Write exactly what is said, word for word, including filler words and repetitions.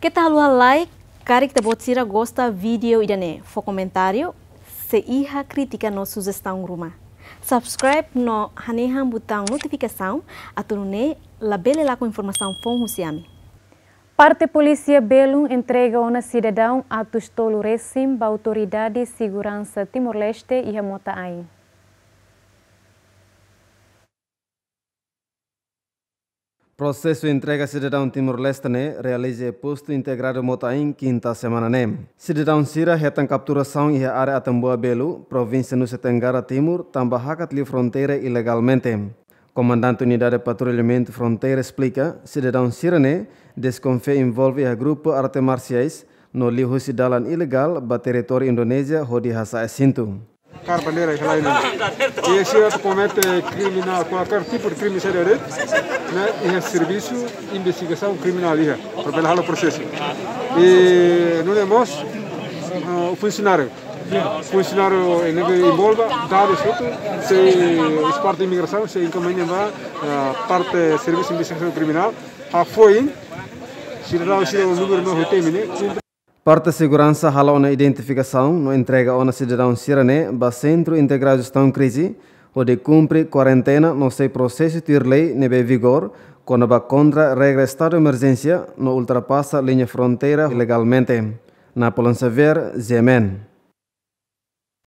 Keta haluha like, karik ita-boot sira gosta vídeo ida-ne'e, fó komentáriu, se iha krítika no sujestaun ruma. Subscribe no hanehan butaun notifikasaun, atu nune'e labele lakon informasaun foun husi ami. Parte polísia belun entrega ona sidadaun atus tolu resin ba autoridade seguransa Timor-Leste iha Mota-Ain. Prosesu entrega sidadaun Timor-Leste ne'e realiza iha postu integradu Mota-Ain, kinta semana ne'e. Sidadaun sira hetan kapturasaun iha área Atambua Belu, provínsia Nusa Tenggara Timur, tanba hakat liu fronteira ilegalmente. Komandante Unidade Patrullamentu Fronteira esplika, sidadaun sira-ne'e deskonfia envolve iha grupu arte marsiais, no liuhusi dalan ilegál ba territóriu Indonézia hodi hasa'e sintu. Kar bandeira iha lain. E sira atu komete kriminál, kualkér tipu de krime sira de'it, ne'e iha servisu investigasaun kriminál iha, para bele halo prosesu. E nune'e mós, ah, funsionáriu. Funsionáriu ne'ebé envolve, dadus hotu, sei parte imigrasaun, sei enkaminha ba, ah, parte servisu investigasaun kriminál. Hafoin, sidadaun sira númeru no hotu ne'e, Parte seguransa hala'o ona identifikasaun no entrega ona sidadaun sira-ne'e ba Sentru Integradu Jestaun Krize, hodi kumpre kuarentena no sei prosesu tuir lei ne'ebé vigór, kona-ba kontra regra estadu emerjénsia no ultrapasa liña fronteira ilegalmente. Napoleon Xavier, G M N.